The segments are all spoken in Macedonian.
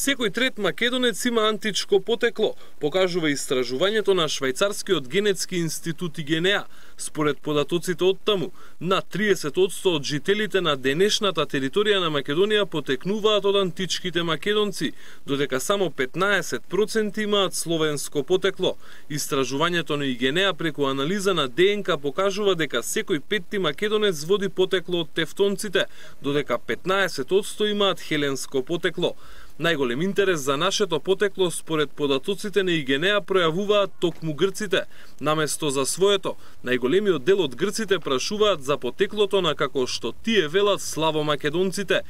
Секој трет македонец има античко потекло, покажува истражувањето на швајцарскиот генетски институт ИГНЕА. Според податоците од таму, над 30% од жителите на денешната територија на Македонија потекнуваат од античките македонци, додека само 15% имаат словенско потекло. Истражувањето на ИГНЕА преку анализа на ДНК покажува дека секој петти македонец води потекло од тевтонците, додека 15% имаат хеленско потекло. Најголем интерес за нашето потекло според податоците на ИГНЕА пројавуваат токму грците. Наместо за своето, најголемиот дел од грците прашуваат за потеклото на како што тие велат славомакедонците.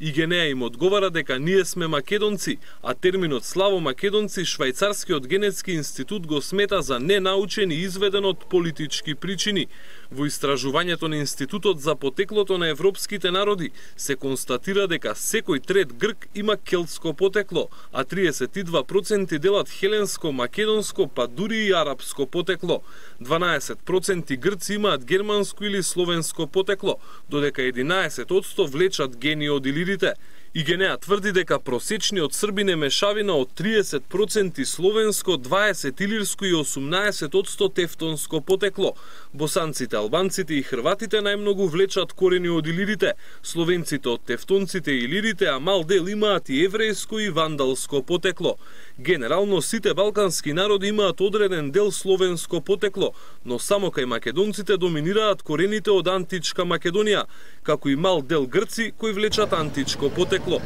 ИГНЕА им одговара дека ние сме македонци, а терминот славомакедонци швајцарскиот генетски институт го смета за ненаучен и изведен од политички причини. Во истражувањето на Институтот за потеклото на европските народи се констатира дека секој трет грк има келтско потекло, а 32% делат хеленско, македонско, па дури и арапско потекло. 12% грци имаат германско или словенско потекло, додека 11% влечат гени од илирите. ИГНЕА тврди дека просечниот србин е мешавина од 30% словенско, 20% илирско и 18% тевтонско потекло. Босанците, албанците и хрватите најмногу влечат корени од илирите, словенците од тевтонците и илирите, а мал дел имаат и еврејско и вандалско потекло. Генерално сите балкански народи имаат одреден дел словенско потекло, но само кај македонците доминираат корените од античка Македонија, како и мал дел грци кои влечат античко потекло.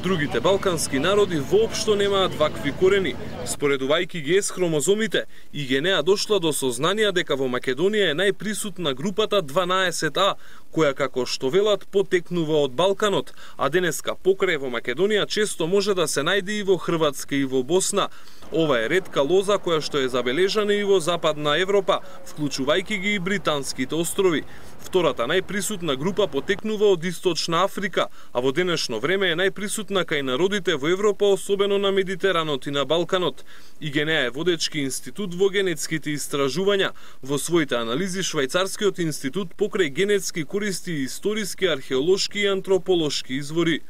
Другите балкански народи воопшто немаат вакви корени. Споредувајќи ги с хромозомите, ИГНЕА дошла до сознание дека во Македонија е најприсутна групата 12А, која како што велат потекнува од Балканот, а денеска покрај во Македонија често може да се најде и во Хрватска и во Босна. Ова е ретка лоза која што е забележана и во Западна Европа, вклучувајќи ги и Британските острови. Втората најприсутна група потекнува од Источна Африка, а во денешно време е најприсутна кај народите во Европа, особено на Медитеранот и на Балканот. ИГНЕА е водечки институт во генетските истражувања. Во своите анализи швајцарскиот институт покрај генетски користи историски, археолошки и антрополошки извори.